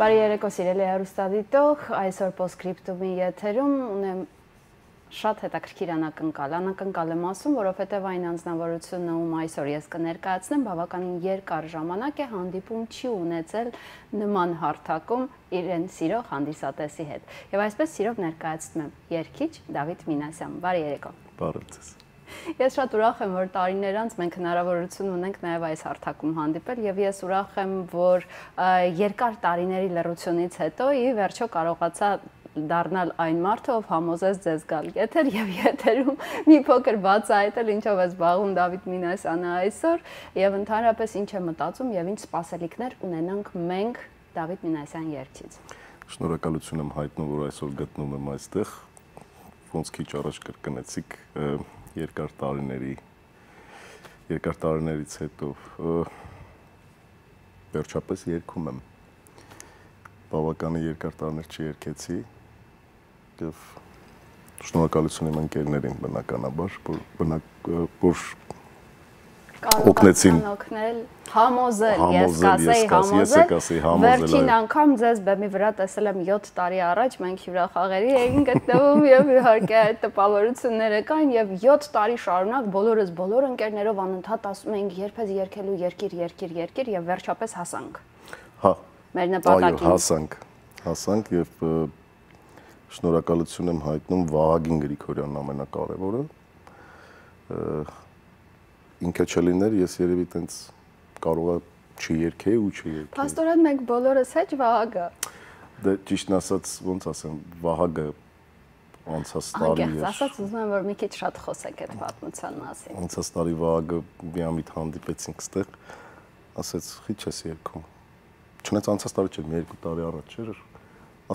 Բարի երեկո սիրելի հեռուստադիտող, այսօր Postscriptum-ի եթերում ունեմ շատ հետաքրքիր անակնկալ եմ ասում, որովհետև այն անձնավորությունը, ում այսօր ես կներկայացնեմ, բավականին երկար ժամանակ է հանդիպում չի ունեցել նման հարթակում իրեն սիրող հանդիսատեսի հետ։ Եվ այսպես սիրով ներկայացնում եմ երգիչ Դավիթ Մինասյան։ Բարի երեկո։ Բարև ձեզ։ Ես շատ ուրախ եմ, որ տարիներ անց մենք հնարավորություն ունենք նաև այս հարթակում հանդիպել եւ ես ուրախ եմ, որ երկար տարիների լռությունից հետո ի վերջո կարողացա դառնալ այն մարդը, ով համոզեց ձեզ գալ եթեր եւ եթերում մի փոքր բացահայտել ինչով է զբաղվում Դավիթ Մինասյանը այսօր եւ ընդհանրապես ինչ է մտածում եւ ինչ սպասելիքներ ունենանք մենք Դավիթ Մինասյան երգչից։ Շնորհակալություն եմ հայտնում, որ այսօր գտնում եմ այստեղ։ Ոնց քիչ առաջ կրկնեցիք երկար տարիներից հետո վերջապես երգում եմ։ Բավականին երկար տարիներ չերգեցի եւ շնորհակալություն իմ ընկերներին բնականաբար, որ օգնեցին համոզել, ես կասեի համոզել, վերջին անգամ ձեզ բեմի վրա տեսել եմ 7 տարի առաջ, մենք հյուրախաղերի էինք գտնվում եւ իհարկե այդ տպավորությունները կան եւ 7 տարի շարունակ բոլոր ընկերներով անընդհատ ասում էինք երբես երգելու երկիր եւ վերջապես հասանք։ Հա։ Մեր նպատակին։ Այո, հասանք եւ շնորհակալություն եմ հայտնում Վահագին Գրիգորյանն ամենակարևորը։ Ինքը չլիներ, ես երևի տենց կարողա չերգեի ու չերգեի։ Փաստորեն մենք բոլորս հեչ Վահագը։ Դե ճիշտն ասած, ոնց ասեմ, Վահագը անցած տարի էր։ Անկեղծ ասած ուզում եմ, որ մի քիչ շատ խոսեք այդ պատմության մասին։ Անցած տարի Վահագը միամիտ հանդիպեցինք ստեղ, ասեց՝ «Խի չես երգում»։ Չնայած անցած տարի չէր, մի 2 տարի առաջ էր,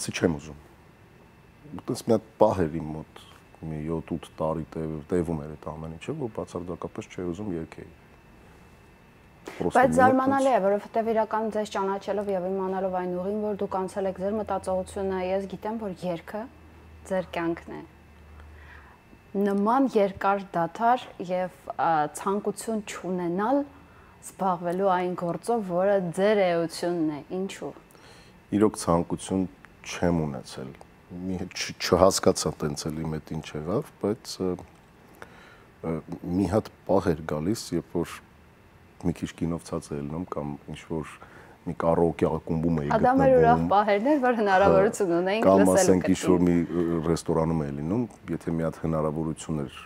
ասի չեմ ուզում։ Այդպես մի հատ պահ էր իմ մոտ, մի 7-8 տարի տևում էր այդ ամեն ինչը, որ բացարձակապես չէի ուզում երգեի։ Բայց զարմանալի է, որովհետև իրականում ձեզ ճանաչելով եւ իմանալով այն ուղին, որ դուք անցել եք ձեր մտածողությունը, ես գիտեմ, որ երգը ձեր կյանքն է։ Նման երկար դադար եւ ցանկություն չունենալ զբաղվելու այն գործով, որը ձեր էությունն է, ինչու։ Իրոք ցանկություն չեմ ունեցել։ Չհասկացա տենց էլ իմ հետ ինչ եղավ, բայց մի հատ պահ էր գալիս, երբ որ մի քիչ կինով ցած է ելնում կամ ինչ որ մի կարաոկե ակումբում էի գտնվում։ Դա մեր ուրախ պահերն էր, որ հնարավորություն ունեինք լսելու։ Կամ ասենք ինչ որ մի ռեստորանում էի լինում, եթե մի հատ հնարավորություն էր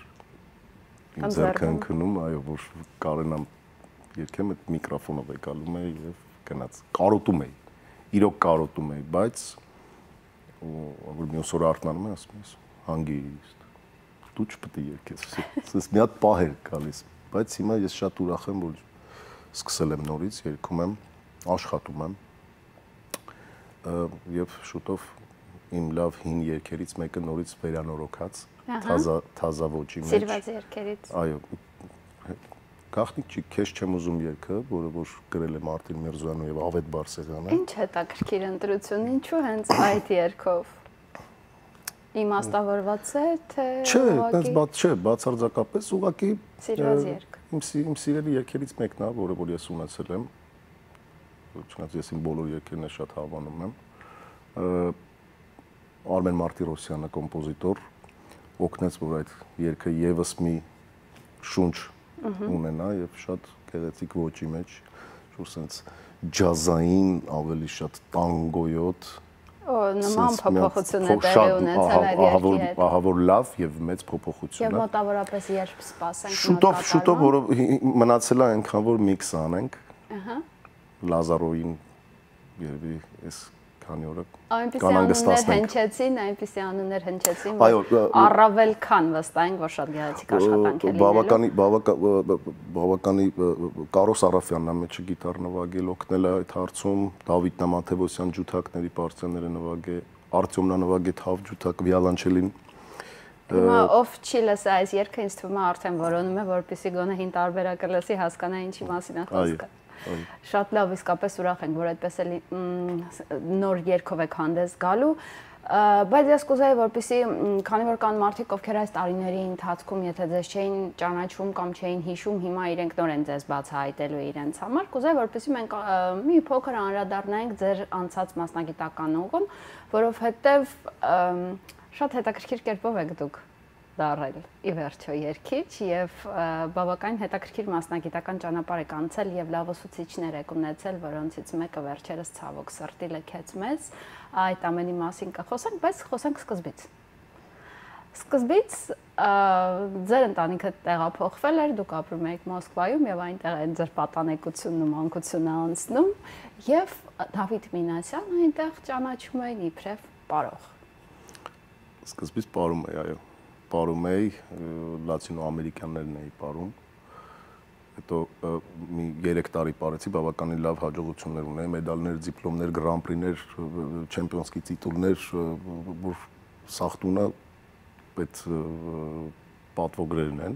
ինձ ձեռքը ընկնում, այո, որ կարենամ երգեմ, այդ միկրոֆոնով եկալում էի եւ գնաց։ Կարոտում էի։ Իրոք կարոտում էի, բայց որ մյուս օրը արթնանում եմ, ասում եմ, հանգիստ, դու չպետք է երգես։ Ես մի հատ պահ էր գալիս, բայց հիմա ես շատ ուրախ եմ, որ սկսել եմ նորից, երգում եմ, աշխատում եմ եւ շուտով իմ լավ հին երգերից մեկը նորից վերանորոգած, թազա ոճի մեջ։ Սիրված երգերից։ Այո, գաղտնիք չի, քեզ չեմ ուզում երգը, որը որ գրել է Մարտին Միրզոյանը եւ Ավետ Բարսեղյանը։ Ինչ հետաքրքիր ընտրություն, ինչու հենց այդ երգով։ Իմաստավորված է, թե Չէ, բացարձակապես ուղղակի սիրված երգ։ Իմ սիրելի երգերից մեկն է, որը որ ես ունեցել եմ։ Չնայած ես իմ բոլոր երգերն շատ հավանում եմ։ Արմեն Մարտիրոսյանը կոմպոզիտոր օգնեց, որ այդ երգը եւս մի շունչ ունենա եւ շատ գեղեցիկ ոճի մեջ, որ sense ջազային, ավելի շատ տանգոյոտ նման փոփոխություն է տեղի ունեցել այդ երգի հետ։ Ահա որ լավ եւ մեծ փոփոխություն է։ Եվ մոտավորապես երբ սպասենք շուտով, որ մնացել է այնքան որ միքս անենք։ Ահա։ Լազարոյին երևի այս քանի օրը այնպիսի անուններ հնչեցին, որ առավել քան վստահենք, որ շատ գեղեցիկ աշխատանք է լինելու։ Բավականի Կարոս Արաֆյանն է մեջը գիտար նվագել, օգնել է այդ հարցում, Դավիթ Նամաթևոսյան ջութակների պարծենները նվագե, Արտյոմն նվագե թավ ջութակ վիոլանչելին։ Հիմա ով չի լսա այս երգը, ինձ թվում է արդեն որոնում է, որպեսզի գոնե հին տարբերակը լսի, հասկանա ինչի մասին է խոսքը։ Շատ լավ, իսկապես ուրախ ենք, որ այդպես էլի նոր երգով եք հանդես գալու։ Բայց ես կուզեի, որպեսզի քանի որ կան մարդիկ, ովքեր այս տարիների ընթացքում, եթե ձեզ չէին ճանաչում կամ չէին հիշում, հիմա իրենք նոր են ձեզ բացահայտելու իրենց համար, կուզեի, որպեսզի մենք մի փոքր անդրադառնանք ձեր անցած մասնագիտական ուղուն, որովհետև շատ հետաքրքիր կերպով եք դուք դառել ի վերջո երգիչ եւ բավական հետաքրքիր մասնագիտական ճանապարհ եք անցել եւ լավ ուսուցիչներ եք ունեցել, որոնցից մեկը վերջերս ցավոք սրտի լքեց մեզ։ Այդ ամենի մասին կխոսենք, բայց խոսենք սկզբից։ Սկզբից ձեր ընտանիքը տեղափոխվել էր, դուք ապրում եք Մոսկվայում եւ այնտեղ է ձեր պատանեկությունն ու մանկությունը անցնում եւ Դավիթ Մինասյանը այնտեղ ճանաչում էին իբրև պարող։ Սկզբից պարում էի, այո։ Պարում էի, լատինոամերիկյաններն էի պարում, հետո մի 3 տարի պարեցի, բավականին լավ հաջողություններ ունեի, մեդալներ, դիպլոմներ, գրանպրիներ, չեմպիոնսկի տիտուլներ, որ սախտունը այդ պատվոգրերն են։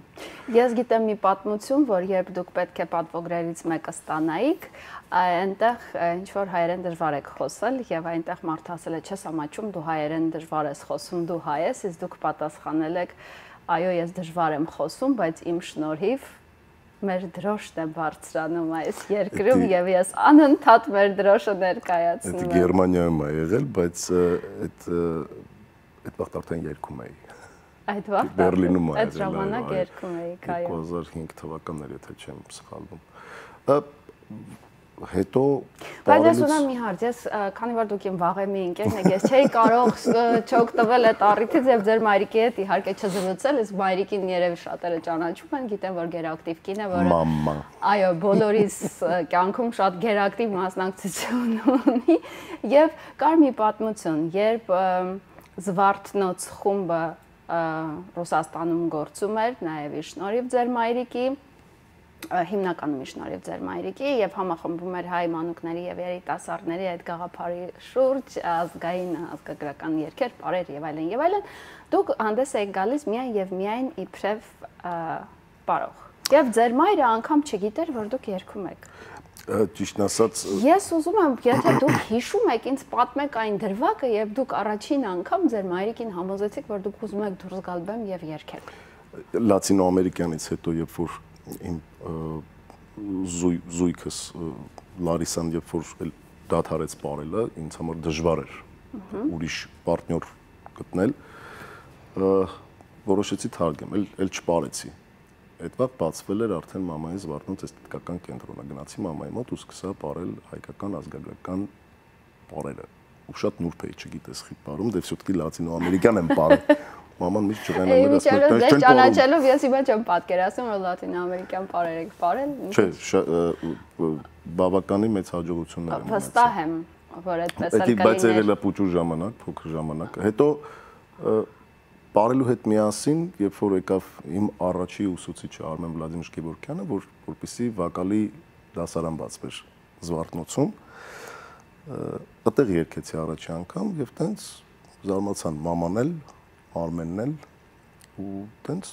Ես գիտեմ մի պատմություն, որ երբ դուք պետք է պատվոգրերից մեկը ստանայիք, այնտեղ ինչ-որ հայերեն դժվար եք խոսել եւ այնտեղ մարդը ասել է, չես ամաչում, դու հայերեն դժվար ես խոսում, դու հայ ես, իսկ դուք պատասխանել եք, այո, ես դժվար եմ խոսում, բայց իմ շնորհիվ մեր դրոշն է բարձրանում այս երկրում եւ ես անընդհատ մեր դրոշը ներկայացնում եմ։ Դա Գերմանիայում է եղել, բայց այդ վաղ արդեն երգում էի։ Այդ վաղ Բերլինում այդ ժամանակ երգում էիք, այո։ 2005 թվականներ, եթե չեմ սխալվում։ Հետո բայց ես ունեմ մի հարց, ես քանի որ դուք իմ վաղեմի ընկերն եք, ես չէի կարող չօգտվել այդ առիթից եւ ձեր մայրիկի հետ իհարկե չզրուցել, իսկ մայրիկին երևի շատերը ճանաչում են, գիտեն որ գերակտիվ կին է, որը մամա։ Այո, բոլորիս կյանքում շատ գերակտիվ մասնակցություն ունի եւ կար մի պատմություն, երբ Զվարթնոց խումբը Ռուսաստանում գործում էր, նաեւ իր շնորհիվ ձեր մայրիկի հիմնականում շնորհիվ ձեր մայրիկի եւ համախմբում էր հայ մանուկների եւ երիտասարդների այդ գաղափարի շուրջ ազգային ազգագրական երգեր, պարեր եւ այլն եւ այլն, դուք հանդես եք գալիս միայն եւ միայն իբրև պարող։ Եվ ձեր մայրը անգամ չգիտեր, որ դուք երգում եք։ Ճիշտն ասած, ես ուզում եմ, եթե դուք հիշում եք, ինձ պատմեք այն դրվագը, եւ դուք առաջին անգամ ձեր մայրիկին համոզեցիք, որ դուք ուզում եք դուրս գալ բեմ եւ երգել։ Լատինոամերիկյանից հետո, երբ որ իմ զույգս Լարիսան, երբ որ դադարեց պարելը, ինձ համար դժվար էր ուրիշ պարտներ գտնել, որոշեցի թարգեմ, էլ չպարեցի։ Այդ վաղ բացվել էր արդեն մամայի Զվարթնոց էսթետիկական կենտրոնը, գնացի մամայի մոտ ու սկսա պարել հայկական ազգագրական պարերը։ Ու շատ նուրբ էի, չգիտես խի պարում, դե всё-таки լատինոամերիկյան եմ պարել։ Մաման միշտ ջղայնում էր, ասում էր, «Դες ճանաչելով ես հիմա չեմ պատկերացնում, որ լատինոամերիկյան պարեր եք պարել»։ Չէ, բավականին մեծ հաջողություններ եմ ունեցել։ Վստահ եմ, որ այդպես էլ կլիներ։ Բայց եղել է փոքր ժամանակ, փոքր ժամանակ։ Հետո պարելու հետ միասին, երբ որ եկավ իմ առաջի ուսուցիչը Արմեն Վլադիմիր Գևորգյանը, որպեսզի վոկալի դասարան բացվեր Զվարթնոցում, այդտեղ երգեցի առաջի անգամ եւ տենց զարմացան մաման էլ, Արմենն էլ ու տենց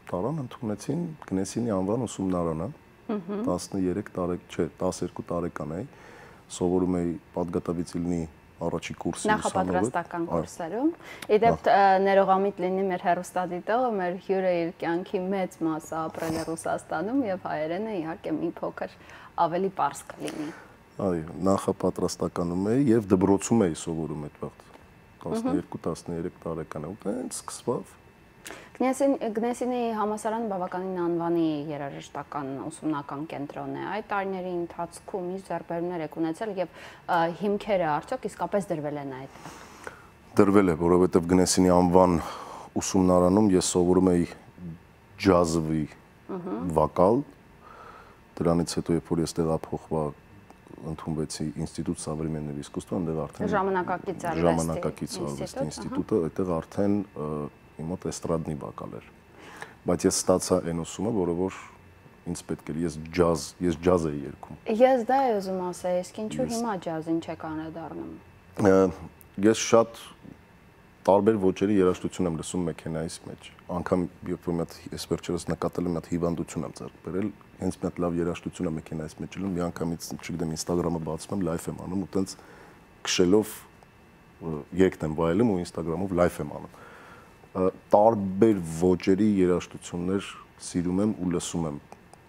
տարան ընդունեցին Գնեսինի անվան ուսումնարանը 12 տարեկան էի, սովորում էի Պատգատավից Իլնի առաջի կուրսի նախապատրաստական կուրսերում։ Իդեպ ներողամիտ լինի մեր հեռուստադիտողը, մեր հյուրը իր կյանքի մեծ մասը ապրել է Ռուսաստանում եւ հայերենը իհարկե մի փոքր ավելի պարզ կլինի։ Այո, նախապատրաստականում էի եւ դպրոցում էի սովորում այդ վաղ 12-13 տարեկան ու տենց սկսվավ։ Գնեսինի համալսարանը բավականին անվանի երաժշտական ուսումնական կենտրոն է։ Այդ տարիների ընթացքում ինչ ձեռքբերումներ եք ունեցել եւ հիմքերը արդյոք իսկապես դրվել են այդտեղ։ Դրվել է, որովհետեւ Գնեսինի անվան ուսումնարանում ես սովորում էի ջազովի վոկալ։ Դրանից հետո երբ որ ես տեղափոխվա ընդունվեցի ինստիտուտ Современного искусства, այնտեղ արդեն ժամանակակից արվեստի ինստիտուտը, այդտեղ արդեն իմ մոտ էստրադնի վոկալ էր։ Բայց ես ստացա այն ուսումը, որը որ ինձ պետք էր, ես ջազ էի երգում։ Ես դա եմ ուզում ասել, իսկ ինչու հիմա ջազին չեք անդրադառնում։ Ես շատ տարբեր ոճերի երաժշտություն եմ լսում մեքենայիս մեջ։ Անգամ երբ որ ես վերջերս նկատել եմ, մի հատ հիվանդություն եմ ձեռք բերել, հենց մի հատ լավ երաժշտություն եմ մեքենայիս մեջ ելնում, մի անգամից, չգիտեմ, Instagram-ը բացում եմ, լայվ եմ անում ու տենց քշելով երգն եմ վայելում ու Instagram-ով live եմ անում։ Տարբեր ոճերի երաժշտություններ սիրում եմ ու լսում եմ։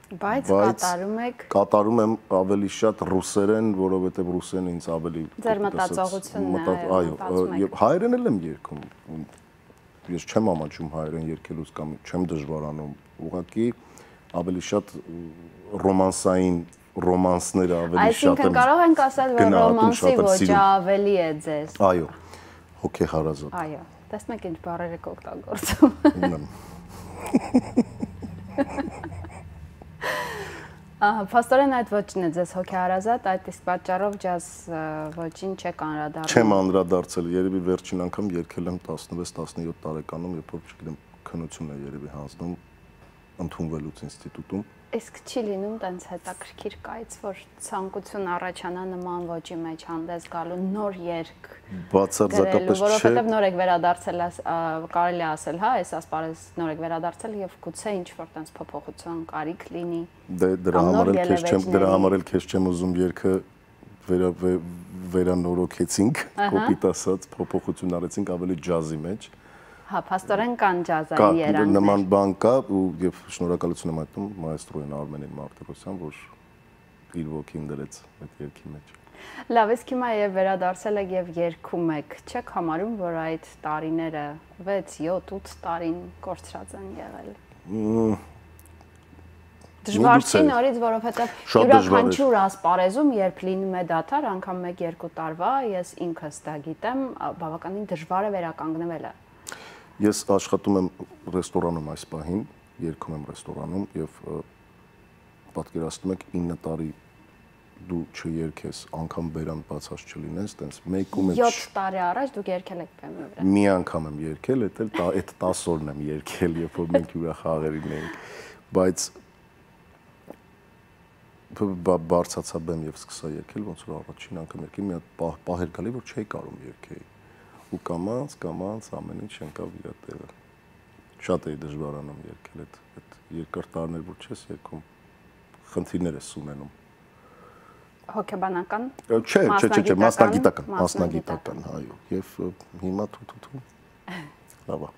Բայց կատարում եմ ավելի շատ ռուսերեն, որովհետև ռուսերեն ինձ ավելի ձեր մտածողությունն է, այո, հայերեն էլ եմ երգում։ Ես չեմ ամաչում հայերեն երգելուց կամ չեմ դժվարանում, ուղղակի ավելի շատ ռոմանսային ռոմանսները ավելի շատ եմ։ Այսինքն կարող ենք ասել, որ ռոմանսի ոճը ավելի է ձեզ։ Այո, հոգեհարազատ։ Այո, տեսնում եք ինչ բառեր եք օգտագործում։ Փաստորեն այդ ոճն է ձեզ հոգեհարազատ, այդ իսկ պատճառով ջազ ոճին չեք անդրադառնում։ Չեմ անդրադարձել, երևի վերջին անգամ երգել եմ 16-17 տարեկանում, երբ որ չգիտեմ քննություն է երևի հանձնում ընդունվելուց ինստիտուտում։ Իսկ չի լինում տենց հետաքրքիր կայից, որ ցանկություն առաջանա նման ոճի մեջ հանդես գալու նոր երգ։ Բացարձակապես չէ։ Որովհետև նոր եք վերադարձել, կարելի է ասել, հա, այս ասպարեզ նոր եք վերադարձել եւ գուցե ինչ-որ տենց փոփոխության կարիք լինի։ Դրա համար էլ քեզ չեմ ուզում երգը վերանորոգեցինք, կոպիտ ասած, փոփոխություն արեցինք ավելի ջազի մեջ։ Հա, փաստորեն կան ջազային երանգներ։ Նման բան կա եւ շնորհակալություն եմ այդում մայստրոին Արմենին Մարտիրոսյան, որ իր ոգին դրեց այդ երգի մեջ։ Լավ, իսկ հիմա եւ վերադարձել եք եւ երգում եք, չեք համարում, որ այդ տարիները 6, 7, 8 տարին կորցրած են եղել։ Դժվար չի նորից, որովհետեւ յուրաքանչյուր ասպարեզում, երբ լինում է դադար, անգամ 1-2 տարվա, ես ինքս դա գիտեմ, բավականին դժվար է վերականգնվելը։ Ես աշխատում եմ ռեստորանում այս պահին, երգում եմ ռեստորանում եւ պատկերացնում եք 9 տարի դու չերգես, անգամ բերան բացած չլինես, տենց մեկում է 7 տարի առաջ դուք երգել եք բեմի վրա։ Մի անգամ եմ երգել, այդ 10 օրն եմ երգել, երբ որ մենք յուրախաղերին էինք, բայց բարձացա բեմ եւ սկսա երգել, ոնց որ առաջին անգամ երգի մի հատ պահեր գալի, որ չէի կարող երգեի։ Ու կամած ամեն ինչ ընկավ իր տեղը։ Շատ էի դժվարանում երգել այդ երկար տարիներ, որ չես երգում, խնդիրներ ես ունենում։ Հոգեբանական։ Չէ, մասնագիտական, այո, եւ հիմա թութու։ Լավ է։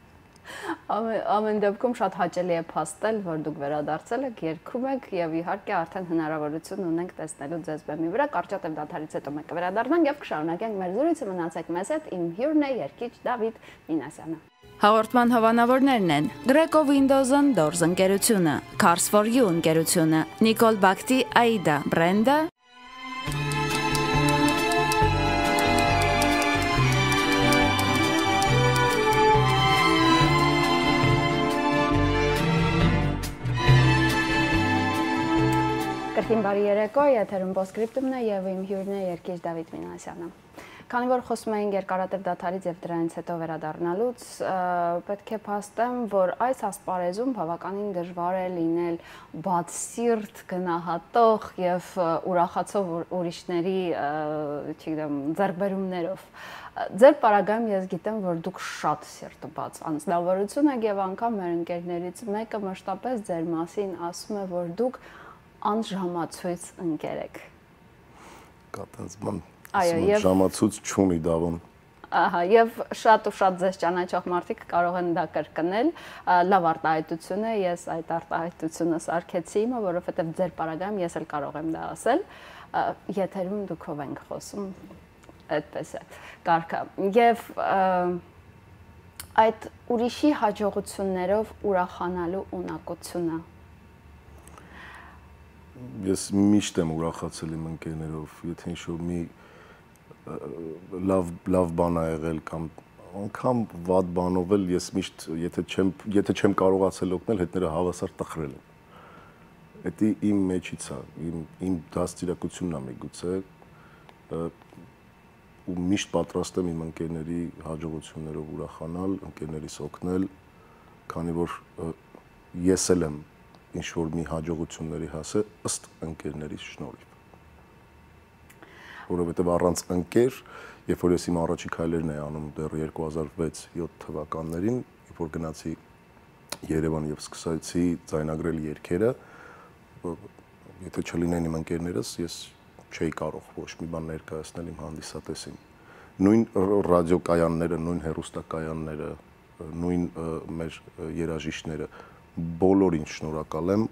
Ամեն դեպքում շատ հաճելի է փաստել, որ դուք վերադարձել եք, երգում եք եւ իհարկե արդեն հնարավորություն ունենք տեսնելու ձեզ բեմի վրա։ Կարճատև դադարից հետո մենք կվերադառնանք եւ կշարունակենք մեր զրույցը, մնացեք մեզ հետ։ Իմ հյուրն է երգիչ Դավիթ Մինասյանը։ Հաղորդման հովանավորներն են Greco Windows-ն Doors ընկերությունը, Cars for You ընկերությունը, Nicole Bakti Aida բրենդը, Կրկին բարի երեկո, եթերում Postscriptum-ն է եւ իմ հյուրն է երգիչ Դավիթ Մինասյանը։ Քանի որ խոսում էինք երկարատև դադարից եւ դրանից հետո վերադառնալուց, պետք է փաստեմ, որ այս ասպարեզում բավականին դժվար է լինել բացսիրտ, գնահատող եւ ուրախացող ուրիշների, չգիտեմ, ձեռքբերումներով։ Ձեր պարագայում ես գիտեմ, որ դուք շատ սիրտաբաց անձնավորություն եք եւ անգամ մեր ընկերներից մեկը մշտապես ձեր մասին ասում է, որ դուք անժամացույց ընկեր եք։ Կատած բան։ Այո, եւ ժամացույց չունի Դավոն։ Ահա, եւ շատ ու շատ ձեզ ճանաչող մարդիկ կարող են դա կրկնել։ Լավ արտահայտություն է, ես այդ արտահայտությունը սարքեցի իմը, որովհետեւ ձեր պարագայում ես էլ կարող եմ դա ասել։ Եթերում դուքով ենք խոսում, այդպես է։ Կարգա։ Եվ այդ ուրիշի հաջողություններով ուրախանալու ունակությունը Ես միշտ եմ ուրախացել իմ ընկերներով, եթե ինչ-որ մի լավ բան ա եղել կամ անգամ վատ բանով էլ ես միշտ եթե չեմ կարողացել օգնել, հետները հավասար տխրել են։ Դա իմ մեջից է, իմ դաստիարակությունն է միգուցե ու միշտ պատրաստ եմ իմ ընկերների հաջողություններով ուրախանալ, ընկերներիս օգնել, քանի որ ես էլ եմ ինչ-որ մի հաջողությունների հասել ըստ ընկերների շնորհիվ։ Որովհետև առանց ընկեր, երբ որ ես իմ առաջի քայլերն էի անում դեռ 2006-7 թվականներին, երբ որ գնացի Երևան եւ սկսեցի ձայնագրել երգերը, եթե չլինեն իմ ընկերներս, ես չէի կարող ոչ մի բան ներկայացնել իմ հանդիսատեսին։ նույն ռադիոկայանները, նույն հեռուստակայանները, նույն մեր երաժիշտները, բոլորին շնորհակալ եմ,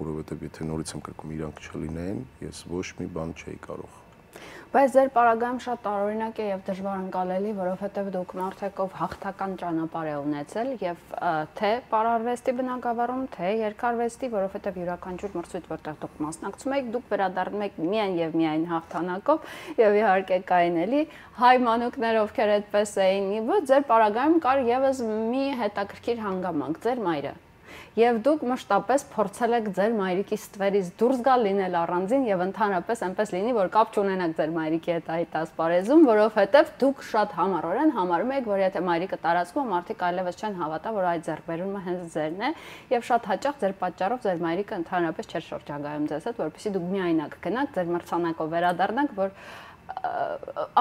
որովհետև եթե նորից եմ կրկում իրանք չլինեին, ես ոչ մի բան չէի կարող։ Բայց ձեր պարագայում շատ տարօրինակ է եւ դժվար ընկալելի, որովհետեւ դուք մարդեք ով հաղթական ճանապարհ է ունեցել եւ թե պարարվեստի բնագավառում, թե երկարվեստի, որովհետեւ յուրաքանչյուր մրցույթ, որտեղ դուք մասնակցում եք, դուք վերադառնում եք միայն եւ միայն հաղթանակով եւ իհարկե կային էլի հայ մանուկներ, ովքեր այդպես էին, ոչ ձեր պարագայում կար եւս մի հետաքրքիր հանգամանք, ձեր մայրը։ Եվ դուք մշտապես փորձել եք ձեր մայրիկի ստվերից դուրս գալ, լինել առանձին եւ ընդհանրապես այնպես լինի, որ կապ չունենաք ձեր մայրիկի հետ այդ ասպարեզում, որովհետեւ դուք շատ համառորեն համարում եք, որ եթե մայրիկը տարածքում, մարդիկ այլևս չեն հավատա, որ այդ ձեռքբերումը հենց ձերն է, եւ շատ հաճախ ձեր պատճառով ձեր մայրիկը ընդհանրապես չէր շրջագայում ձեզ հետ, որպեսզի դուք միայնակ գնաք, ձեր մրցանակով վերադառնաք, որ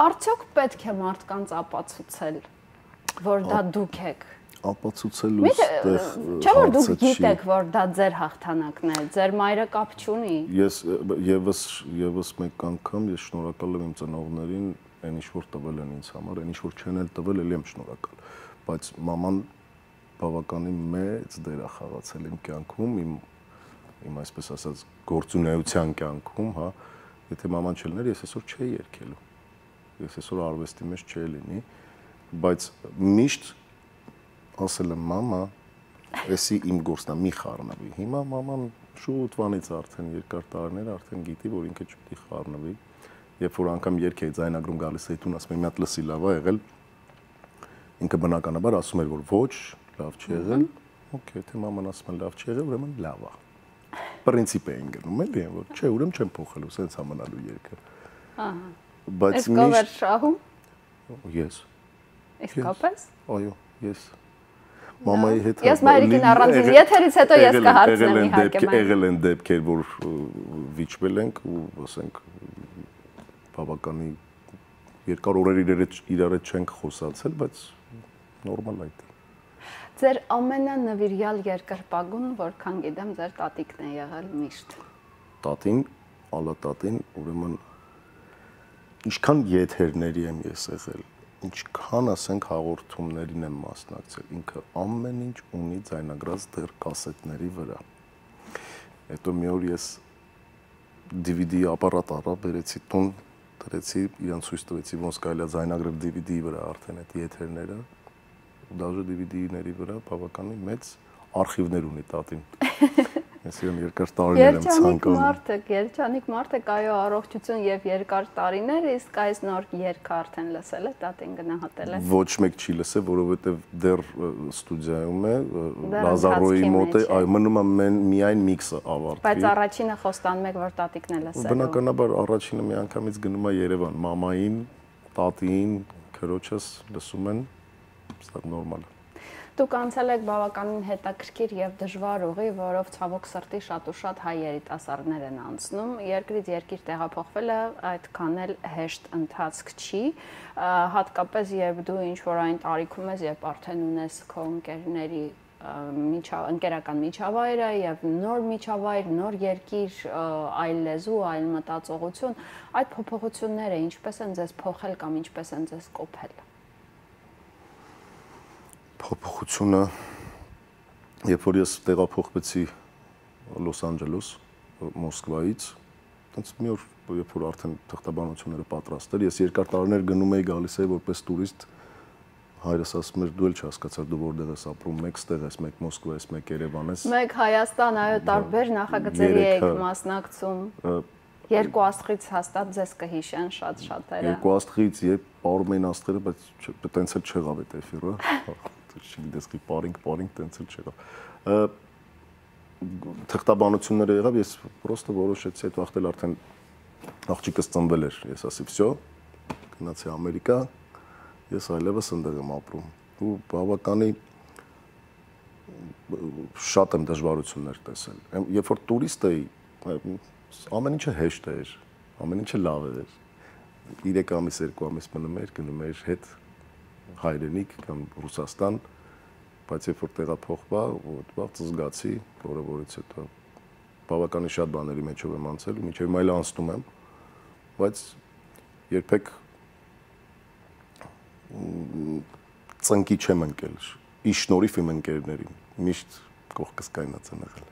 արդյոք պետք է մարդկանց ապացուցել, որ դա դուք եք։ Ապացուցելու ստեղ չէ՞ որ դուք գիտեք, որ դա ձեր հաղթանակն է, ձեր մայրը կապ չունի։ Ես եւս մեկ անգամ ես շնորհակալ եմ իմ ծնողներին, այն ինչ որ տվել են ինձ համար, այն ինչ որ չեն էլ տվել, ելի եմ շնորհակալ, բայց մաման բավականին մեծ դեր է խաղացել իմ կյանքում, իմ այսպես ասած գործունեության կյանքում, հա, եթե մաման չլիներ, ես այսօր չէի երգելու։ Ես այսօր արվեստի մեջ չէի լինի, բայց միշտ ասել եմ մամա, էսի իմ գործն է, մի խառնվի։ Հիմա մաման շուտվանից արդեն երկար տարիներ արդեն գիտի, որ ինքը չպետք է խառնվի։ Երբ որ անգամ երգ էի ձայնագրում գալիս էի տուն, ասում եմ մի հատ լսի լավ է եղել։ Ինքը բնականաբար ասում էր, որ ոչ, լավ չի եղել։ Okay, թե մաման ասում է լավ չի եղել, ուրեմն լավ է։ Պրինցիպ էին գնում, էլի, որ չէ, ուրեմն չեմ փոխելու, սենց համանալու երգը։ Ահա։ Բայց միշտ շահում։ Ես։ Իսկապես։ Այո, ես։ Մամայի հետ ես մայրիկին առանձին եթերից հետո ես կհարցնեմ իհարկե եղել են դեպքեր, որ վիճվել ենք ու ասենք բավականի երկար օրեր իրար հետ չենք խոսացել, բայց նորմալ այդ է։ Ձեր ամենանվիրյալ երկրպագուն, որքան գիտեմ, ձեր տատիկն է եղել միշտ։ Տատին, ալատատին, ուրեմն ինչքան եթերների եմ ես եղել, ինչքան ասենք հաղորդումներին եմ մասնակցել, ինքը ամեն ինչ ունի ձայնագրած դեռ կասետների վրա։ Հետո մի օր ես DVD ապարատ առա, բերեցի տուն, դրեցի, իրան ցույց տվեցի, ոնց կարելի է ձայնագրել DVD-ի վրա արդեն այդ եթերները, դաժե DVD-ների վրա բավականին մեծ արխիվներ ունի տատին։ Ես իրեն երկար տարիներ եմ ցանկանում։ Երջանիկ մարդ եք, այո, առողջություն եւ երկար տարիներ, իսկ այս նոր երգը արդեն լսել եք, տատին գնահատել եք։ Ոչ մեկ չի լսել, որովհետեւ դեռ ստուդիայում է, Լազարոյի մոտ է, այո, մնում է միայն միքսը ավարտվի։ Բայց առաջինը խոստանում եք, որ տատիկն է լսել։ Բնականաբար առաջինը մի անգամից գնում է Երևան, մամային, տատին, քրոջս լսում են, սա նորմալ է։ Դուք անցել եք բավականին հետաքրքիր եւ դժվար ուղի, որով ցավոք սրտի շատ ու շատ հայ երիտասարդներ են անցնում։ Երկրից երկիր տեղափոխվելը այդքան էլ հեշտ ընթացք չի, հատկապես երբ դու ինչ որ այն տարիքում ես, երբ արդեն ունես քո ընկերների ընկերական միջավայրը եւ նոր միջավայր, նոր երկիր, այլ լեզու, այլ մտածողություն, այդ փոփոխությունները ինչպես են ձեզ փոխել կամ ինչպես են ձեզ կոփել։ Փոփոխությունը, երբ որ ես տեղափոխվեցի Լոս Անջելես, Մոսկվայից, այնց մի օր, երբ որ արդեն թղթաբանությունները պատրաստ էր, ես երկար տարիներ գնում էի, գալիս էի որպես տուրիստ, հայրս ասում էր դու էլ չհասկացար դու որտեղ ես ապրում, մեկ ստեղ ես, մեկ Մոսկվա ես, մեկ Երևան ես։ Մեկ Հայաստան, այո, տարբեր նախագծերի եք մասնակցում։ Երկու աստղից հաստատ ձեզ կհիշեն շատ շատերը։ Երկու աստղից երբ ապրում էին աստղերը, բայց տենց էլ չեղավ այդ էֆիրը։ Չգիտես քի պարինգ տենց էլ չեղավ։ Թղթաբանությունները եղավ, ես պրոստը որոշեցի այդ վաղտել արդեն աղջիկս ծնվել էր, ես ասի, «Վсё, գնացի Ամերիկա, ես այլևս ընդեղ եմ ապրում»։ Ու բավականի շատ եմ դժվարություններ տեսել։ Երբ որ տուրիստ էի, ամեն ինչը հեշտ էր, ամեն ինչը լավ էր։ 3 ամիս, 2 ամիս մնում էր, գնում էր հետ հայրենիք կամ Ռուսաստան, բայց երբ որ տեղափոխվա, ուտված զգացի, որից հետո բավականին շատ բաների մեջով եմ անցել ու մինչև այլ անցնում եմ, բայց երբեք ծնկի չեմ ընկել։ Ի շնորհիվ իմ ընկերներին միշտ կողքս կայնած են եղել։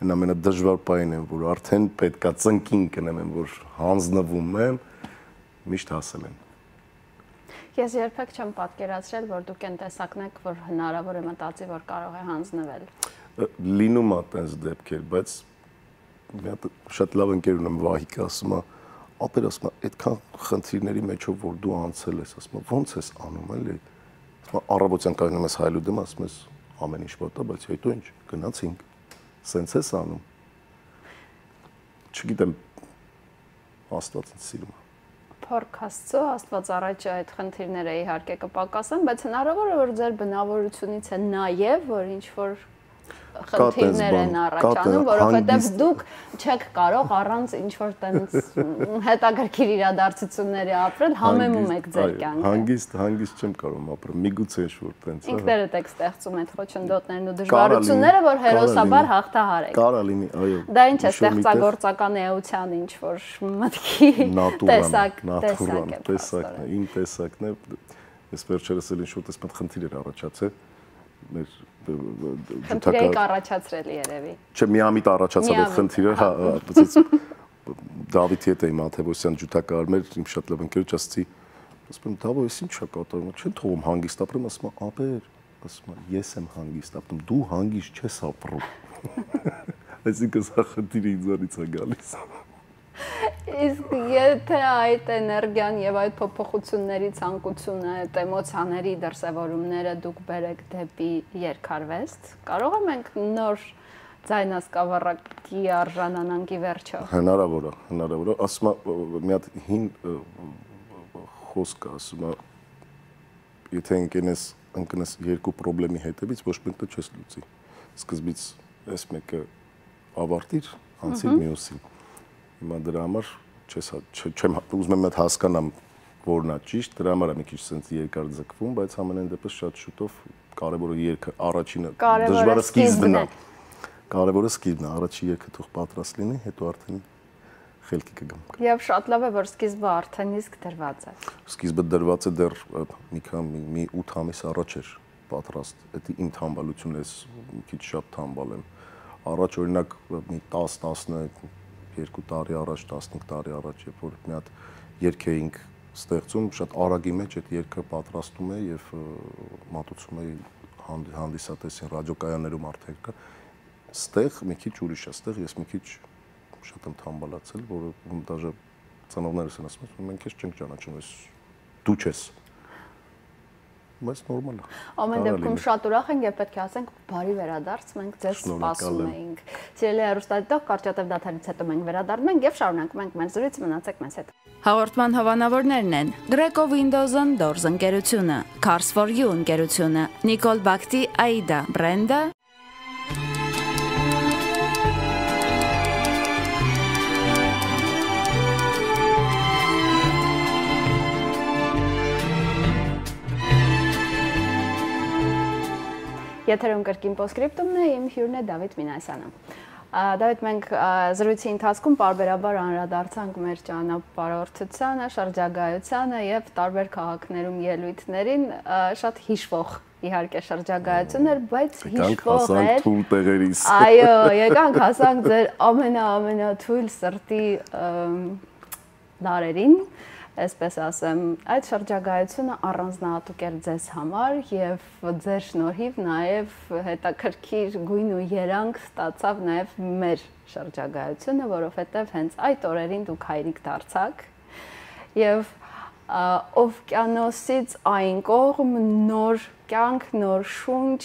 Այն ամենադժվար պահին եմ, որ արդեն պետքա ծնկին կնեմ, որ հանձնվում եմ, միշտ հասել են։ Ես երբեք չեմ պատկերացրել, որ դուք այն տեսակն եք, որ հնարավոր է մտածի, որ կարող է հանձնվել։ Լինում է այդպես դեպքեր, բայց մի հատ շատ լավ ընկեր ունեմ, Վահիկը, ասում է, ապեր ասում է, այդքան խնդիրների մեջով որ դու անցել ես, ասում է, ո՞նց ես անում, էլի։ Առավոտյան կայնում ես հայլուդում, ասում ես, ամեն ինչ պատա, բայց հետո ինչ, գնացինք, սենց ես անում։ Չգիտեմ, Աստված ինձ սիրում է։ Փառք Աստծո, Աստված առաջ այդ խնդիրները իհարկե կպակասեն, բայց հնարավոր է որ ձեր բնավորությունից է նաև որ ինչ որ խնդիրներ են առաջանում, որովհետև դուք չեք կարող առանց ինչ որ տենց հետաքրքիր իրադարձությունների ապրել, համեմում եք ձեր կյանքը։ Հանգիստ չեմ կարող ապրել, միգուցե ինչ-որ տենց։ Ինքներդ եք ստեղծում այդ խոչընդոտներն ու դժվարությունները, որ հերոսաբար հաղթահարեք։ Կարա լինի, այո։ Դա ինչ է ստեղծագործական էության ինչ որ մտքի տեսակն է, իմ տեսակն է։ Ես վերջերս էլ ինչ-որ տեսք խնդիր էր առաջացել։ Մեր խնդիրը առաջացրել երևի։ Չէ, միամիտ առաջացավ այդ խնդիրը, հա, Դավիթի հետ էի Մաթեոսյան ջութակարար մեր իմ շատ լավ ընկերոջ ասացի, ասում եմ, Դավո, ես ինչ է կատարում, չեն թողում հանգիստ ապրեմ, ասում եմ, ապեր, ասում եմ, ես եմ հանգիստ ապրում, դու հանգիստ չես ապրում։ Այսինքն սա խնդիրը ինձանից է գալիս։ Իսկ եթե այդ էներգիան եւ այդ փոփոխությունների ցանկությունը, այդ էմոցիաների դրսևորումները դուք բերեք դեպի երկարվեստ, կարող ենք նոր ձայնասկավառակի արժանանանքի վերջը։ Հնարավոր է, ասում եմ, մի հատ հին խոսք է, ասում եմ, եթե ընկնես երկու խնդրի հետևից, ոչ մեկը չես լուծի։ Սկզբից այս մեկը ավարտիր, անցիր մյուսին։ Հիմա դրա համար չեմ ուզում եմ հասկանամ որն է ճիշտ, դրա համար է մի քիչ sense երկար ձգվում, բայց ամենայն դեպս շատ շուտով կարևորը երգը առաջինը դժվարը սկիզբն է։ Կարևորը սկիզբն է, առաջի երգը թող պատրաստ լինի, հետո արդեն խելքի կգամ։ Եվ շատ լավ է, որ սկիզբը արդեն իսկ դրված է։ Սկիզբը դրված է դեռ մի 8 ամիս առաջ էր պատրաստ։ Դա իմ թամբալությունն է, մի քիչ շատ թամբալ եմ։ Առաջ օրինակ մի 10-12 տարի առաջ, 15 տարի առաջ, երբ որ մի հատ երգ էինք ստեղծում, շատ արագի մեջ այդ երգը պատրաստում է եւ մատուցում է հանդիսատեսին ռադիոկայաններում արդեն կա։ Ստեղ մի քիչ ուրիշ է, ստեղ ես մի քիչ շատ եմ թամբալացել, որը դաժե ծնողներս են ասում, մենք քեզ չենք ճանաչում, դու չես։ Բայց նորմալ է։ Ամեն դեպքում շատ ուրախ ենք եւ պետք է ասենք բարի վերադարձ, մենք ձեզ սպասում էինք։ Սիրելի հեռուստադիտող, կարճատև դադարից հետո մենք վերադառնում ենք եւ շարունակում ենք մեր զրույցը, մնացեք մեզ հետ։ Հաղորդման հովանավորներն են Greco Windows-ն Doors ընկերությունը, Cars for You ընկերությունը, Nicole Bakti Aida բրենդը, Եթերում կրկին Postscriptum-ն է, իմ հյուրն է Դավիթ Մինասյանը։ Դավիթ, մենք զրույցի ընթացքում պարբերաբար անդրադարձանք մեր ճանապարհորդությանը, շրջագայությանը եւ տարբեր քաղաքներում ելույթներին, շատ հիշվող իհարկե շրջագայություն էր, բայց հիշվող էր թույլ տեղերից։ Այո, եկանք հասանք ձեր ամենաթույլ սրտի դարերին, այսպես ասեմ, այդ շրջագայությունը առանձնահատուկ էր ձեզ համար եւ ձեր շնորհիվ նաեւ հետաքրքիր գույն ու երանգ ստացավ նաեւ մեր շրջագայությունը, որովհետեւ հենց այդ օրերին դուք հայրիկ դարձաք եւ օվկիանոսից այն կողմ նոր կյանք, նոր շունչ,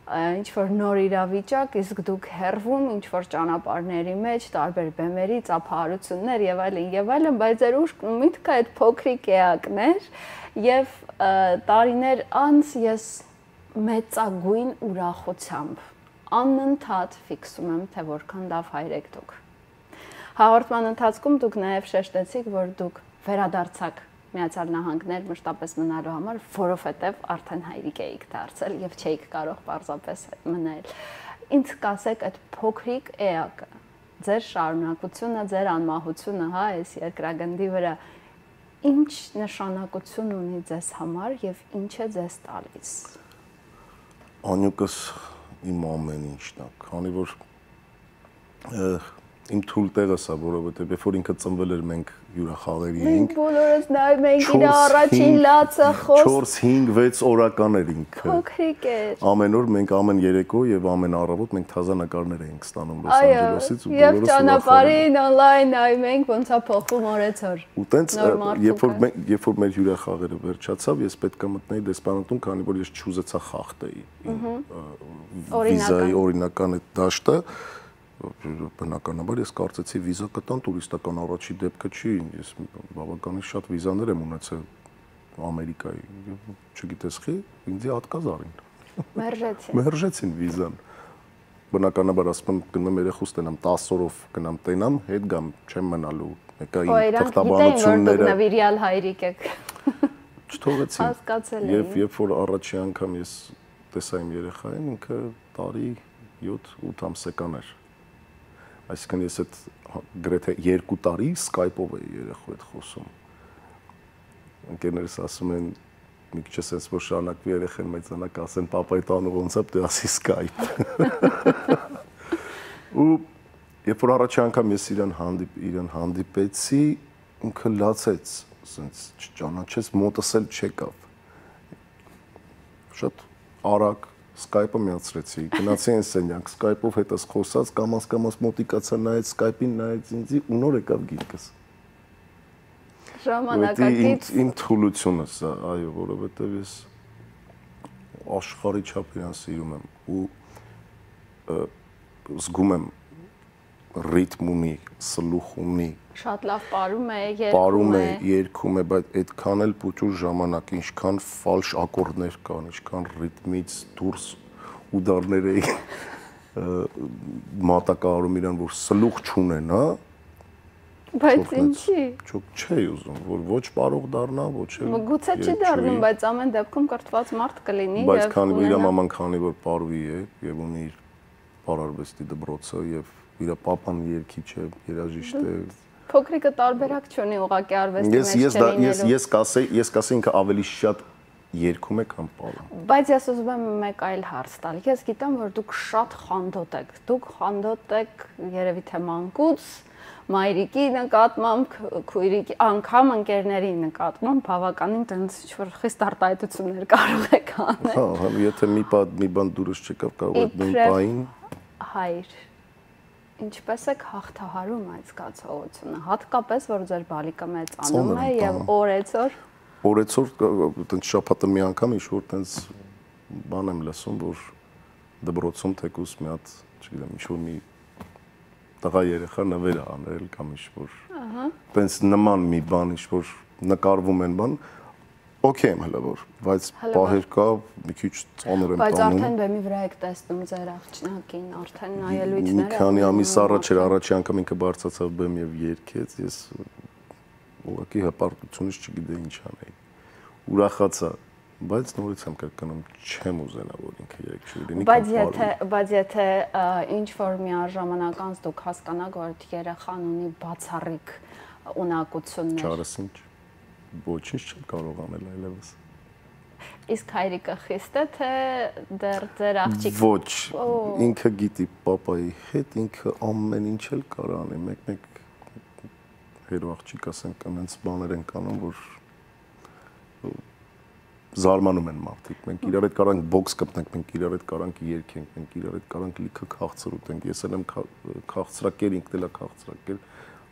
ինչ որ նոր իրավիճակ, իսկ դուք հեռվում ինչ որ ճանապարհների մեջ, տարբեր բեմերի, ծափահարություններ եւ այլն, բայց ձեր ուշ միտքը այդ փոքրիկ էակներ եւ տարիներ անց ես մեծագույն ուրախությամբ անընդհատ ֆիքսում եմ, թե որքան լավ հայր եք դուք։ Հաղորդման ընթացքում դուք նաեւ շեշտեցիք, որ դուք վերադարձաք Միացյալ Նահանգներ մշտապես մնալու համար, որովհետև արդեն հայրիկ էիք դարձել եւ չէիք կարող պարզապես մնել։ Ինձ կասեք այդ փոքրիկ էակը, ձեր շարունակությունը, ձեր անմահությունը, հա, այս երկրագնդի վրա Ինչ նշանակություն ունի ձեզ համար եւ ինչ է ձեզ տալիս։ Անյուկս իմ ամեն ինչն է, քանի որ իմ թույլ տեղը սա, որովհետեւ երբ որ ինքը ծնվել էր մենք հյուրախաղերի էինք։ Մենք բոլորս նայում ենք իր առաջին լացը խոս 4-5-6 օրական էր ինքը։ Փոքրիկ էր։ Ամեն օր մենք ամեն երեկո եւ ամեն առավոտ մենք թազանակարներ էինք ստանում Լոս Անջելեսից ու եւ ճանապարհին on-line նայում ենք ոնց է փոխվում օրեցօր։ Ու տենց երբ որ մեր հյուրախաղերը վերջացավ, ես պետք է մտնեի դեսպանատուն, քանի որ ես չուզեցա խախտեի վիզայի օրինական այդ դաշտը։ Բնականաբար ես կարծեցի վիզա կտան տուրիստական առաջի դեպքը չի, ես բավականին շատ վիզաներ եմ ունեցել Ամերիկայի, չգիտես խի, ինձ հատկազ արին։ Մերժեցին վիզան։ Բնականաբար ասում եմ գնում երեխուս տենամ 10 օրով գնամ տենամ, հետ գամ, չեմ մնալու։ Մեկը իմ թղթաբանությունները նվիրյալ հայրիկ եք։ Չթողեցին։ Հասկացել եմ։ Եվ երբ որ առաջի անգամ ես տեսա իմ երեխային, ինքը տարի 7-8 ամսական էր։ Այսինքն ես այդ գրեթե 2 տարի Skype-ով էի երեխու հետ խոսում։ Ընկերներս ասում են մի քիչ էս որ շարունակվի երեխեն մեծանա կասեն պապայի տանը ոնց է դե ասի Skype։ Ու երբ որ առաջի անգամ ես իրան հանդիպեցի, ինքը լացեց, ասենց չճանաչեց, մոտս էլ չեկավ։ Շատ արագ Skype-ը միացրեցի, գնացի այն սենյակ, Skype-ով հետս խոսած, կամաց մոտիկացա նայեց Skype-ին, նայեց ինձի ու նոր եկավ գիրկս։ Ժամանակակից իմ թուլությունը սա, այո, որովհետև ես աշխարհի չափ իրան սիրում եմ ու զգում եմ ռիթմ ունի, սլուխ ունի։ Շատ լավ պարում է, երգում է, բայց այդքան էլ փոքր ժամանակ, ինչքան ֆալշ ակորդներ կան, ինչքան ռիթմից դուրս ուդարներ էի մատակարարում իրան, որ սլուխ չունեն, հա։ Բայց ինչի։ Չէի ուզում, որ ոչ կարող դառնա, ոչ էլ։ Գուցե չի դառնում, բայց ամեն դեպքում կրթված մարդ կլինի եւ բայց քանի որ իր մաման քանի որ պարուի է եւ ունի իր պարարվեստի դպրոցը եւ իր պապան երգիչ է, երաժիշտ է։ Փոքրիկը տարբերակ չունի ուղղակի արվեստի մեջ չլինելու։ Ես կասեի ինքը ավելի շատ երգում է, քան պարում։ Բայց ես ուզում եմ մեկ այլ հարց տալ։ Ես գիտեմ, որ դուք շատ խանդոտ եք։ Դուք խանդոտ եք երևի թե մանկուց, մայրիկի նկատմամբ, քույրիկի, անգամ ընկերների նկատմամբ բավականին տենց ինչ-որ խիստ արտահայտություններ կարող եք անել։ Հա, եթե մի բան դուրս չեկավ, կարող է նույն պահին հայր։ Ինչպես եք հաղթահարում այդ զգացողությունը, հատկապես որ ձեր բալիկը մեծանում է եւ օրեցօր տենց շաբաթը մի անգամ ինչ-որ տենց բան եմ լսում, որ դպրոցում թեկուս մի հատ, չգիտեմ, ինչ-որ մի տղա երեխա նվեր է անել կամ ինչ-որ տենց նման մի բան, ինչ-որ նկարվում են բան, օքեյ եմ հələ որ, բայց պահեր կա, մի քիչ ծանր եմ տանում։ Բայց արդեն բեմի վրա եք տեսնում ձեր աղջնակին, արդեն նայելույթները։ Մի քանի ամիս առաջ էր առաջի անգամ ինքը բարձրացավ բեմ եւ երգեց, ես ուղղակի հպարտությունից չգիտեի ինչ անեի։ Ուրախացա, բայց նորից եմ կրկնում, չեմ ուզենա որ ինքը երգ չլինի։ Բայց եթե ինչ որ միաժամանակ դուք հասկանաք, որ երեխան ունի բացառիկ ունակություններ։ Չարս ինչ ոչինչ չեմ կարող անել այլևս։ Իսկ հայրիկը խիստ է թե դեռ ձեր աղջիկ։ Ոչ, ինքը գիտի պապայի հետ, ինքը ամեն ինչ էլ կարող անի, մեկ հերո աղջիկ ասենք այնց բաներ են կանում, որ զարմանում են մարդիկ։ Մենք իրար հետ կարանք բոքս կպնենք, մենք իրար հետ կարանք երգենք, մենք իրար հետ կարանք լիքը քաղցր ուտենք։ Ես էլ եմ քաղցրակեր, ինքն էլ է քաղցրակեր։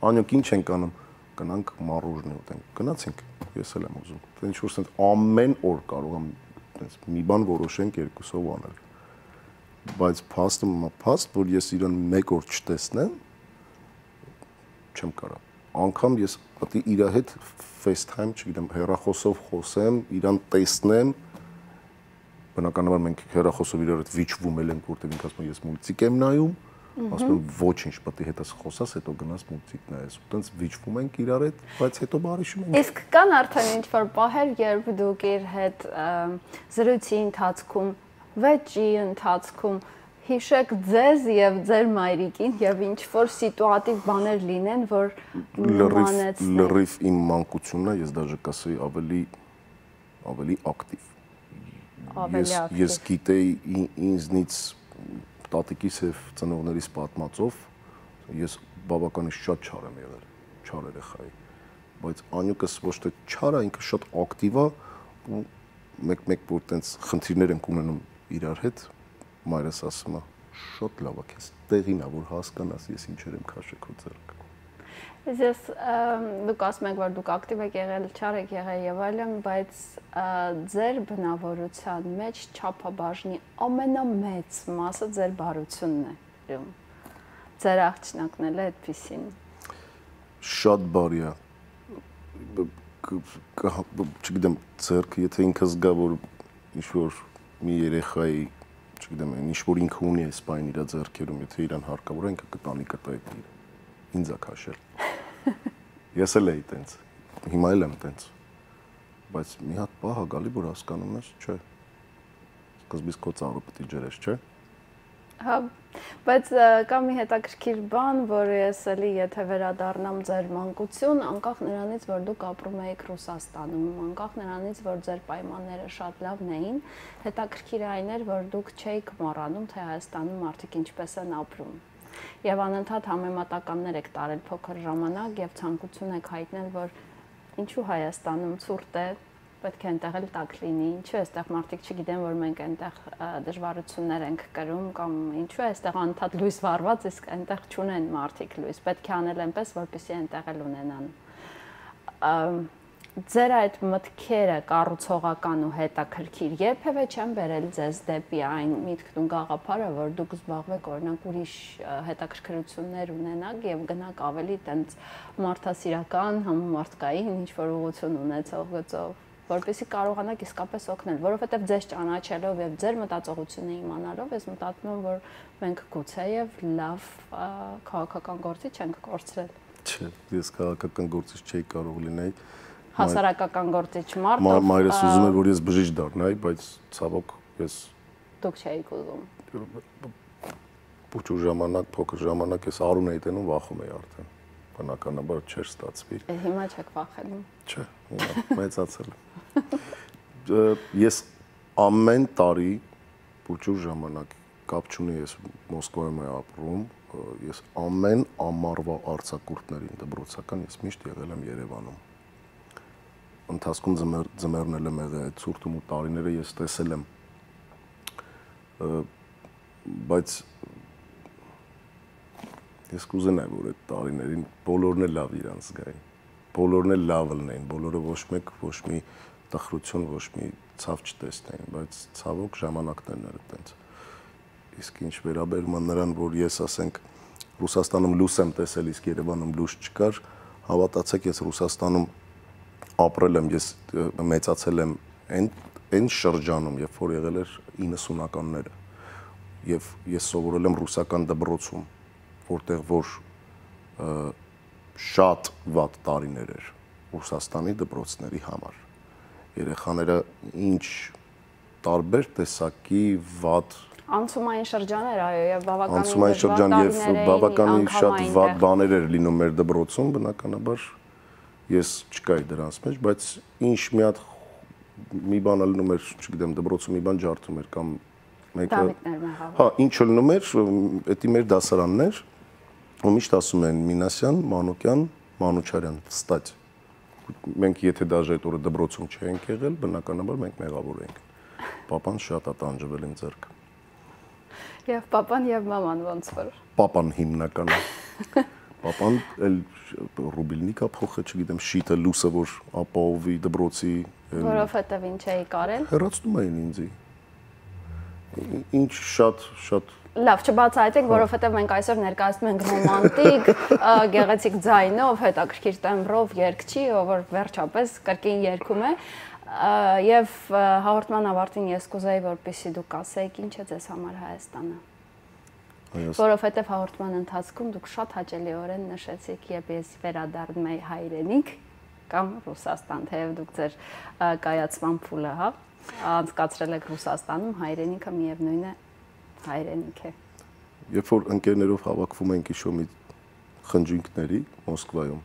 Անյոք ինչ ենք անում։ Գնանք մարուժնի ուտենք։ Գնացինք, ես էլ եմ ուզում։ Դա ինչ որ ասենք ամեն օր կարող եմ այդպես մի բան որոշենք երկուսով անել։ Բայց փաստ, որ ես իրան մեկ օր չտեսնեմ, չեմ կարող։ Անգամ ես պետք է իր հետ FaceTime, չգիտեմ, հեռախոսով խոսեմ, իրան տեսնեմ։ Բնականաբար մենք հեռախոսով իրար հետ վիճվում ենք, որտեղ ինքը ասում է ես մուլտիկ եմ նայում, ասում եմ ոչինչ, պետք է հետս խոսաս, հետո գնաս մուլտիկ նայես։ Ու տենց վիճվում ենք իրար հետ, բայց հետո բարիշում ենք։ Իսկ կան արդեն ինչ-որ պահեր, երբ դուք իր հետ զրույցի ընթացքում, վեճի ընթացքում Հիշեք ձեզ եւ ձեր մայրիկին եւ ինչ որ սիտուատիվ բաներ լինեն, որ նմանեցնեն։ Լրիվ իմ մանկությունն է, ես դաժե կասեի ավելի ակտիվ։ Ես գիտեի ինձնից տատիկիս եւ ծնողներիս պատմածով, ես բավականին շատ չար եմ եղել, չար երեխայի, բայց անյուկս ոչ թե չար է, ինքը շատ ակտիվ է ու մեկ որ տենց խնդիրներ ենք ունենում իրար հետ, մայրս ասում է, շատ լավ է, քեզ տեղին է, որ հասկանաս ես ինչեր եմ քաշել քո ձեռքը։ Ես դուք ասում եք, որ դուք ակտիվ եք եղել, չար եք եղել եւ այլն, բայց ձեր բնավորության մեջ չափաբաժնի ամենամեծ մասը ձեր բարությունն է։ Ձեր աղջնակն էլ է այդպեսին։ Շատ բարի է։ Չգիտեմ, ձեռքը, եթե ինքը զգա, որ ինչ-որ մի երեխայի, չգիտեմ, ինչ-որ ինքը ունի այս բանը իր ձեռքերում, եթե իրան հարկավոր է, ինքը կտանի կտա այդ իրը։ Ինձ է քաշել։ Ես էլ էի տենց, հիմա էլ եմ տենց, բայց մի հատ պահ է գալի, որ հասկանում ես, չէ, սկզբից քո ծառը պետք է ջրես, չէ։ Հա, բայց կա մի հետաքրքիր բան, որ ես էլի եթե վերադառնամ ձեր մանկություն, անկախ նրանից, որ դուք ապրում եք Ռուսաստանում, անկախ նրանից, որ ձեր պայմանները շատ լավն էին, հետաքրքիր այն էր, որ դուք չէիք մոռանում, թե Հայաստանում մարդիկ ինչպես են ապրում։ Եվ անընդհատ համեմատականներ եք տարել փոքր ժամանակ եւ ցանկություն եք հայտնել, որ ինչու Հայաստանում ցուրտ է, պետք է այնտեղ էլ տաք լինի, ինչու այստեղ մարդիկ չգիտեն, որ մենք այնտեղ դժվարություններ ենք կրում կամ ինչու է այստեղ անընդհատ լույս վառված, իսկ այնտեղ չունեն մարդիկ լույս, պետք է անել այնպես, որպեսզի այնտեղ էլ ունենան։ Ձեր այդ մտքերը կառուցողական ու հետաքրքիր երբևէ չեն բերել ձեզ դեպի այն միտքն ու գաղափարը, որ դուք զբաղվեք օրինակ ուրիշ հետաքրքրություններ ունենաք եւ գնաք ավելի տենց մարդասիրական, համամարտկային ինչ-որ ուղղություն ունեցող գծով, որպեսզի կարողանաք իսկապես օգնել, որովհետեւ ձեզ ճանաչելով եւ ձեր մտածողությունը իմանալով, ես մտածում եմ, որ մենք գուցեև լավ քաղաքական գործիչ ենք կորցրել։ Չէ, ես քաղաքական գործիչ չէի կարող լինել։ Հասարակական գործիչ մարդ։ Մայրս ուզում էր, որ ես բժիշկ դառնայի, բայց ցավոք ես դուք չէիք ուզում։ Փոքր ժամանակ, փոքր ժամանակ ես Արուն էի տենում, վախում էի արդեն։ Բնականաբար չէր ստացվի։ Հիմա չեք վախենում։ Չէ, հիմա մեծացել եմ։ Ես ամեն տարի փոքր ժամանակ կապ չունի, ես Մոսկվայում եմ ապրում, ես ամեն ամառվա արձակուրդներին դպրոցական ես միշտ եղել եմ Երևանում։ Ընթացքում ձմեռն էլ եմ եղել, այդ ցուրտում ու տարիները ես տեսել եմ, բայց ես կուզենայի, որ այդ տարիներին բոլորն էլ լավ իրանց զգային, բոլորն էլ լավ լինեին, բոլորը ոչ մեկ ոչ մի տխրություն, ոչ մի ցավ չտեսնեին, բայց ցավոք ժամանակներն էր այդպես։ Իսկ ինչ վերաբերում է նրան, որ ես ասենք Ռուսաստանում լույս եմ տեսել, իսկ Երևանում լույս չկար, հավատացեք, ես Ռուսաստանում ապրել եմ, ես մեծացել եմ այն շրջանում, երբ որ եղել էր 90-ականները, եւ ես սովորել եմ ռուսական դպրոցում, որտեղ որ շատ վատ տարիներ էր Ռուսաստանի դպրոցների համար։ Երեխաները ինչ տարբեր տեսակի վատ անցումային շրջան էր, այո, եւ անցումային շրջան եւ բավականին շատ վատ բաներ էր լինում մեր դպրոցում, բնականաբար ես չկայի դրանց մեջ, բայց ինչ մի բան ալնում էր, չգիտեմ, դպրոցում մի բան ջարդում էր կամ մեկը հա, ինչ ալնում էր, դա մեր դասարանն էր, ու միշտ ասում են Մինասյան, Մանուկյան, Մանուչարյան, վստահ։ Մենք եթե դաժե այդ օրը դպրոցում չենք եղել, բնականաբար մենք մեղավոր ենք։ Պապան շատ է տանջվել իմ ձեռքը։ Եվ պապան եւ մաման ոնց որ։ Պապան հիմնականը։ Պապան էլ ռուբիլնիկա փոխը, չգիտեմ, շիտը լուսը, որ ապահովի դպրոցի։ Որովհետեւ ինչ էի կարել։ Հեռացնում էին ինձի։ Ինչ շատ Լավ, չբացահայտեք, որովհետև մենք այսօր ներկայացնում ենք ռոմանտիկ, գեղեցիկ ձայնով, հետաքրքիր տեմբրով երգչի, ով որ վերջապես կրկին երգում է, եւ հաղորդման ավարտին ես կուզեի, որպեսզի դուք ասեիք ինչ է ձեզ համար Հայաստանը։ Որովհետև հաղորդման ընթացքում դուք շատ հաճելիորեն նշեցիք, երբ ես վերադառնում եի հայրենիք կամ Ռուսաստան, թեև դուք ձեր կայացման փուլը, հա, անցկացրել եք Ռուսաստանում, հայրենիքը միևնույն է հայրենիք է։ Երբ որ ընկերներով հավաքվում ենք իշո մի խնջույքների Մոսկվայում,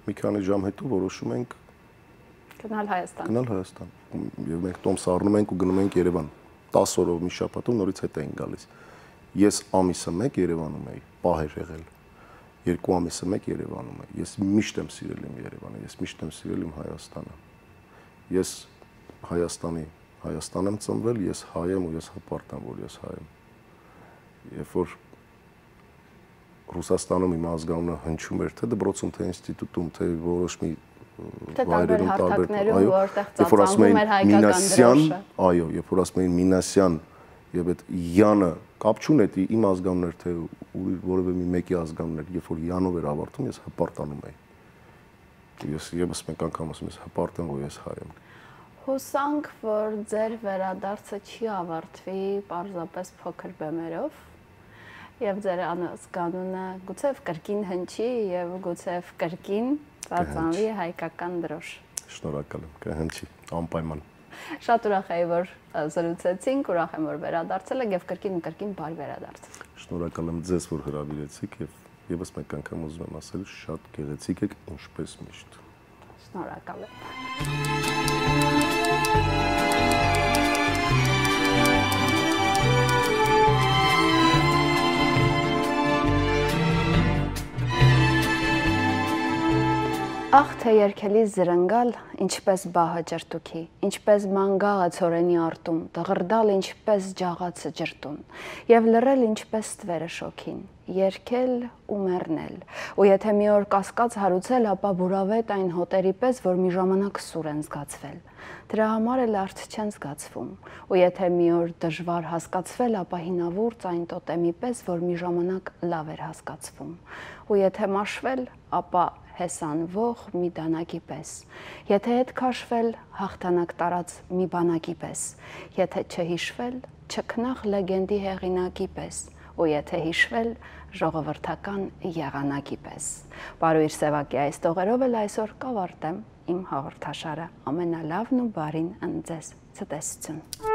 մի քանի ժամ հետո որոշում ենք գնալ Հայաստան։ Գնալ Հայաստան։ Եվ մենք տոմս առնում ենք ու գնում ենք Երևան։ 10 օրով մի շաբաթով նորից հետ ենք գալիս։ Ես ամիսը 1 Երևանում եի, պահեր եղել։ 2 ամիսը 1 Երևանում եի։ Ես միշտ եմ սիրել իմ Երևանը, ես միշտ եմ սիրել իմ Հայաստանը։ Ես Հայաստան եմ ծնվել, ես հայ եմ ու ես հպարտ եմ, որ ես հայ եմ։ Երբ որ Ռուսաստանում իմ ազգանունը հնչում էր, թե դպրոցում, թե ինստիտուտում, թե որոշ մի վայրերում տարբեր, որտեղ ծածանվում էր հայկական դրոշը։ Այո, երբ որ ասում էին Մինասյան եւ այդ Յանը կապ չունեցի իմ ազգանունն էր, թե որևէ մի մեկի ազգանունն էր, երբ որ Յանով էր ավարտում, ես հպարտանում էի։ Ես եւս մեկ անգամ ասում ես հպարտ եմ, որ ես հայ եմ։ Հուսանք, որ ձեր վերադարձը չի ավարտվի պարզապես փոքր բեմերով եւ ձեր ազգանունը գուցեւ կրկին հնչի եւ գուցեւ կրկին ծածանվի հայկական դրոշ։ Շնորհակալ եմ, կհնչի, անպայման։ Շատ ուրախ եմ, որ զրուցեցինք, ուրախ եմ, որ վերադարձել եք եւ կրկին ու կրկին բարի վերադարձ։ Շնորհակալ եմ ձեզ, որ հրավիրեցիք եւ եւս մեկ անգամ ուզում եմ ասել, շատ գեղեցիկ եք, ինչպես միշտ։ Շնորհակալ եմ։ Ախ թե երկելի զրնգալ, ինչպես բահը ջրտուքի, ինչպես մանգաղը ցորենի արտում, դղրդալ ինչպես ջաղացը ջրտուն, եւ լռել ինչպես ստվերը շոքին, երկել ու մեռնել, ու եթե մի օր կասկած հարուցել, ապա բուրավետ այն հոտերի պես, որ մի ժամանակ սուր են զգացվել, դրա համար էլ արդ չեն զգացվում, ու եթե մի օր դժվար հասկացվել, ապա հինավուրց այն տոտեմի պես, որ մի ժամանակ լավ էր հասկացվում, ու եթե մաշվել, ապա հեսանվող մի դանակի պես, եթե հետ քաշվել, հաղթանակ տարած մի բանակի պես, եթե չհիշվել, չքնաղ լեգենդի հեղինակի պես, ու եթե հիշվել, ժողովրդական եղանակի պես։ Բարույր Սևակի այս տողերով էլ այսօր կավարտեմ իմ հաղորդաշարը, ամենալավն ու բարին ընձեզ, ցտեսություն։